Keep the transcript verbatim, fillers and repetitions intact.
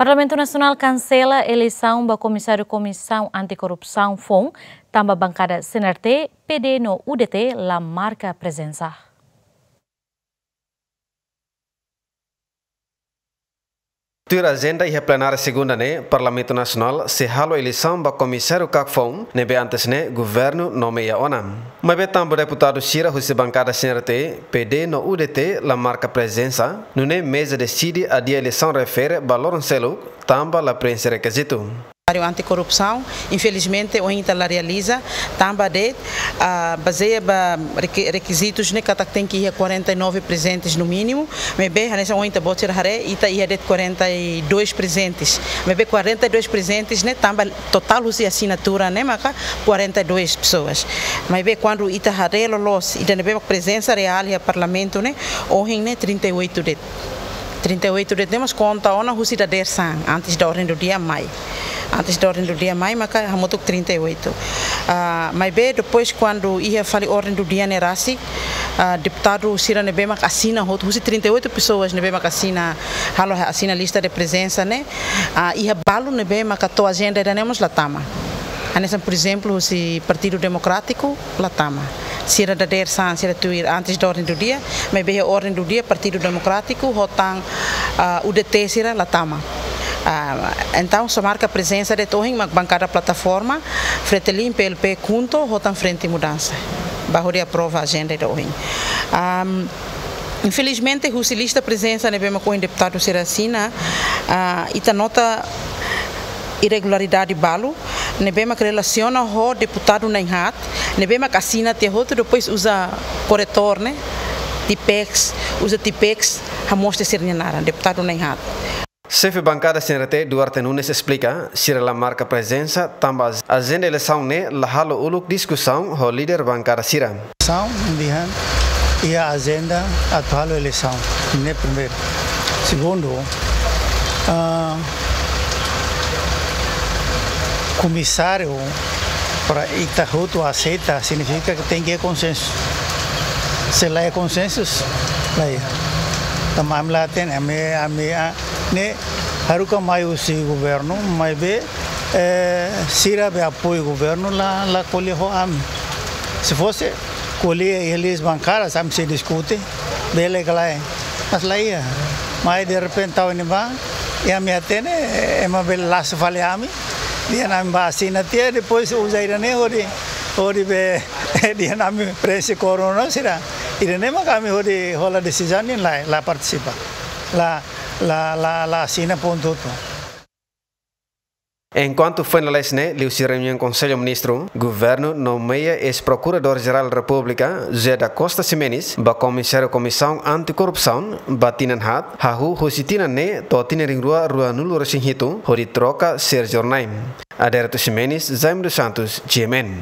Parlamentu Nasionál kansela eleisaun ba komisáriu Komisaun Antikorrupsaun foun, tanba bankada C N R T, P D no U D T la marka prezensa. Tuir ajenda iha plenária segunda ne'e, Parlamentu Nasionál sei halo eleisaun ba komisáriu kak foun, ne'ebé antes ne'e governu nomeia ona. Maibé tanba deputadu sira husi bankada C N R T, P D no U D T la marka prezensa, nune'e meza deside adia eleisaun refere ba loron seluk, tanba la preenxe rekizitu. Komisáriu Antikorrupsaun, infelizmente, ohin ita la realiza, tanba de'it, ah, bazeia ba requi-, rekizitus ne'e katak tenke iha quarenta e nove prezentes no mínimu, maibé hanesan ohin ita-boot sira haree, ita iha de'it quarenta e dois prezentes. Maibé quarenta e dois prezentes ne'e tanba totál husi asinatura ne'e maka quarenta e dois pessoas. Maibé kuandu ita haree loloos, ida ne'ebé mak prezensa reál iha Parlamentu ne'e, ohin ne'e trinta e oito de'it. Trinta e oito de'it ne'e mós konta ona husi dadeer-saan, antes da ordem do dia mai. Antes da ordem do dia mai, maka hamutuk trinta e oito. Ah, maibé depois kuandu iha fali ordem do dia ne'e rasik, ah, deputadu sira ne'ebé mak asina hotu, husi trinta e oito pessoas ne'ebé mak asina, halo asina lista de prezensa ne'e, ah, iha balu ne'ebé maka to'o ajenda ida-ne'e mós la tama. Hanesan, por exemplo, husi Partidu Demokrátiku la tama. Sira dadeer-saan, sira tuir antes da ordem do dia, maibé iha ordem do dia Partidu Demokrátiku ho tan, ah, U D T sira la tama. Ah, entaun, só marka prezensa de'it ohin mak bankada Plataforma, Fretilin, P L P, KHUNTO, ho tan Frente Mudansa. Ba hodi aprova ajenda ida ohin. Am, infelizmente, husi lista prezensa ne'ebé mak ohin deputadu sira asina, ah, ita nota irregularidade balu, ne'ebé mak relasiona ho deputadu na'in-haat, ne'ebé mak asina tiha hotu, depois uza korretór ne'e, Tipex, uza Tipex, hamoos tiha sira-nia naran, deputadu na'in-haat. Xefe bankada C N R T, Duarte Nunes, esplika, sira la marka prezensa, tanba ajenda eleisaun ne'e la halo uluk diskusaun ho líder bankada sira. São, dehan, iha ajenda atu halo eleisaun. Ne'e primeiru. Segundu, ah, komisáriu para ita hotu aseita signifika katak tenke konsensu. Se la iha konsensu, la iha. Tanba ami la hatene, ami, ami, ah, ne'e haruka mai husi governu, maibé, eh, sira be apoiu governu la, la ko'alia ho ami. Se fosse ko'alia iha liis bankada, ami sei diskute, bele ka lae. Mas la iha. Mai derrepente tau ne'ebá, i ami hatene, ema bele lasu fali ami, dehan ami bá asina tiha, depois uza ida-ne'e hodi, hodi be, dehan ami preenxe korona sira. Ida-ne'e mak ami hodi hola desizaun ne'e la, la partisipa. La, la, la, la asina pontu hotu. Enkuantu foin lalais ne'e, liuhusi reuniaun Konsellu Ministru, governu nomeia eis-Prokuradór-Jerál Repúblika, José da Costa Ximenes, ba Komisáriu Komisaun Antikorrupsaun, ba tinan haat, hahú husi tinan ne'e to'o tinan rihun rua ruanulu-resin-hitu, hodi troka Sérgio Hornai. Adérito Ximenes, Jaime dos Santos, G M N.